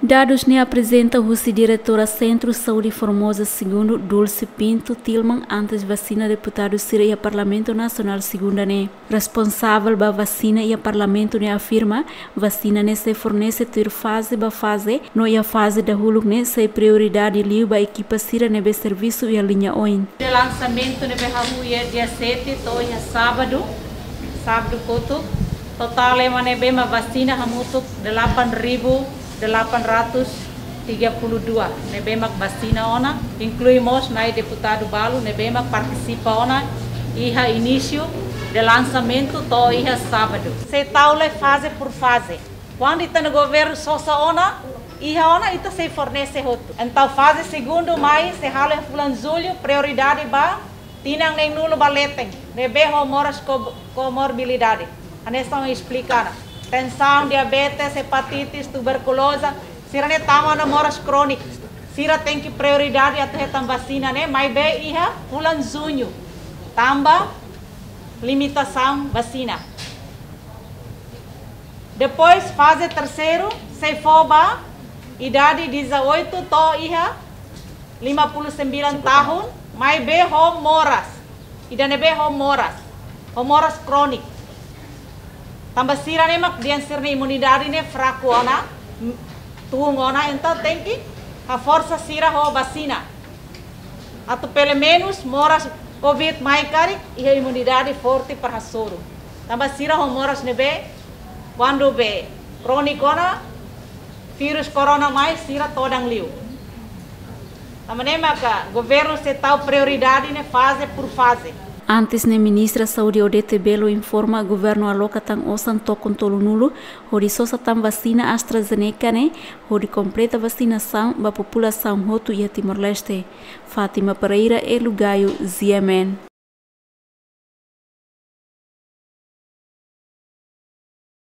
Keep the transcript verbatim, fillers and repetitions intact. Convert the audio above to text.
Dadus ne'e aprezenta husi Diretora Sentru Saúde Formosa Segundu, Dulce Pinto Tilman, antes vasina deputadu sira iha Parlamentu Nasionál segunda ne'e. Responsavel ba vasina iha Parlamentu ne'e afirma, vasina ne'e sei fornese tuir faze ba faze, no iha faze dahuluk ne'e sei prioridade liu ba ekipa sira ne'ebé servisu iha liña oin. De lansamentu ne'ebé hahú iha dia sete to'o iha sábadu, sábadu kotuk, totál ema ne'ebé mak vasina hamutuk delapan ribu delapan ratus tiga puluh dua ne'ebé mak vasina ona, inklui mós nai deputadu balu ne'ebé mak partisipa ona iha inísiu de lansamentu to'o iha sábadu. Sei tau lai faze por faze. Kuandu ita-nia governu sosa ona, iha ona ita sei fornese hotu. Entaun faze segundu mai sei halo iha fulan jullu, prioridade ba tinan neenulu ba leten, ne'ebé ho moras ko-, komorbilidade. Hanesan esplika ona. Tensaun, diabetes, hepatitis, tuberkuloza, sira-ne'e tama ona moras króniku. Sira tenke prioridade atu hetan vasina ne'e, maibé iha fulan juñu. Tanba limitasaun vasina. Depois, faze terseiru, sei fó ba idade dezoito to'o iha lima puluh sembilan tahun, maibé ho moras. Ida ne'ebé ho moras. Ho moras króniku. Tanba sira-ne'e mak dehan sira-nia imunidade ne'e fraku ona, m-, tun ona, entaun tenke haforsa sira ho vasina. Atu pelumenus moras covid mai karik, iha imunidade forte para hasoru. Tanba sira ho moras ne'ebé, kuandu be króniku ona, vírus korona mai, sira todan liu. Tanba ne'e maka governu sei tau prioridade ne'e faze por faze. Antes ne'e Ministra Saúde Odete Bello informa governu aloka tan osan tokon tolunulu, hodi sosa tan vasina AstraZeneca ne'e, hodi kompleta vasinasaun ba populasaun hotu iha Timor-Leste. Fátima Pereira, Elu Gayo, G M N.